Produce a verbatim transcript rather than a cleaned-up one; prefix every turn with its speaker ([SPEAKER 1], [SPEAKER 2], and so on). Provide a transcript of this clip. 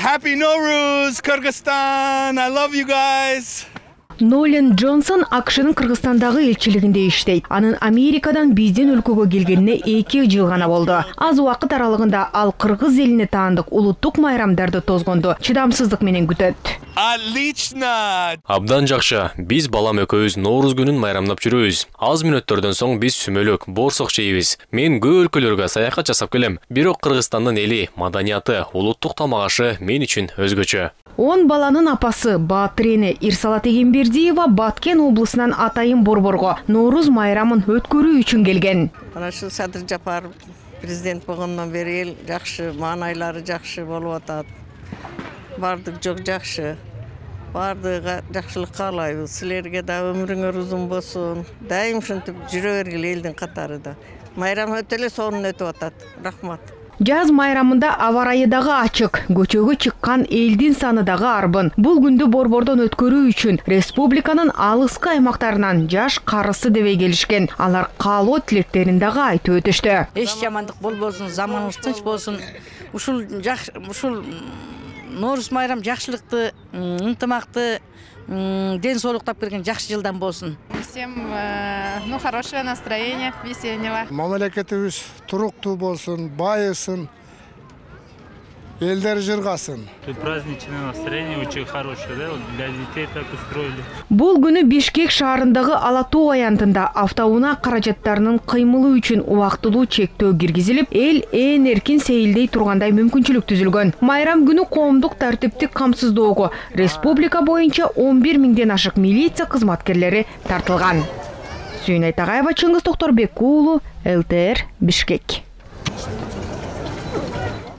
[SPEAKER 1] Happy Nowruz, Kyrgyzstan. I love you guys.
[SPEAKER 2] Нолан Джонсон АКШнын Кыргызстандагы элчилигинде иштейт. Анын Америкадан биздин өлкөгө келгенине эки жыл гана болду. Аз убакыт аралыгында ал кыргыз элине таандык улуттук майрамдарды тозгонду чыдамсыздык менен күтөт.
[SPEAKER 1] Отлично!
[SPEAKER 3] Абдан жакшы. Биз балам экөөбүз Нооруз күнүн майрамдап жүрөбүз. Аз мүнөттөрдөн соң биз сүмөлөк, борсок жейбиз. Мен көп өлкөлөргө саякат жасап келем. Бирок Кыргызстандын эли, маданияты, улуттук тамак ашы мен үчүн өзгөчө.
[SPEAKER 2] Он баланын апасы Баатырене Ирсалат Эгембердиева Баткен облусунан Атайын Борборго Нооруз майрамын өткөрүү үчүн келген.
[SPEAKER 4] Ana şu Sadır Japar президент болгондон бери эл жакшы, маанайлары жакшы болуп атат. Бардык жок жакшы. Бардыгы жакшылык каалайбыз. Силерге да өмүрүңөр узун болсун. Дайым ушинтип жүрө бергиле элдин катарында. Майрам өтө эле сонун өтүп атат. Рахмат.
[SPEAKER 2] Жаз майрамында аба ырайы дагы ачык, көчөгө чыккан элдин саны дагы арбын. Бул күндү борбордон өткөрүү үчүн республиканын алыскы аймактарынан жаш карысы дебей келишкен. Алар каалоо тилектерин дагы айтып өтүштү.
[SPEAKER 5] Эч жамандык болбосун, заманыбыз тынч болсун. Ушул жакшы, ушул Нооруз майрам жакшылыкты, ынтымакты, ден соолуктап берген жакшы жылдан болсун.
[SPEAKER 6] Всем ну хорошее настроение, весеннего.
[SPEAKER 7] Мамлекетибиз туруктуу болсун, байысын, элдер жыргасын.
[SPEAKER 8] Тут праздничное настроение очень хорошее, да? Вот для детей так устроили.
[SPEAKER 2] Бул күнү Бишкек шаарындагы Ала Тоо аянтында автоунаа каражаттарынын кыймылы үчүн убактылуу чектөө киргизилип, эл ээн эркин сейилдей тургандай мүмкүнчүлүк түзүлгөн. Майрам күнү коомдук тартиптик камсыздоого республика боюнча он бир миңден ашык милиция кызматкерлери тартылган. Сүйүн Айтагаева, Чыңгыз Токторбек уулу, эл тэ эр, Бишкек.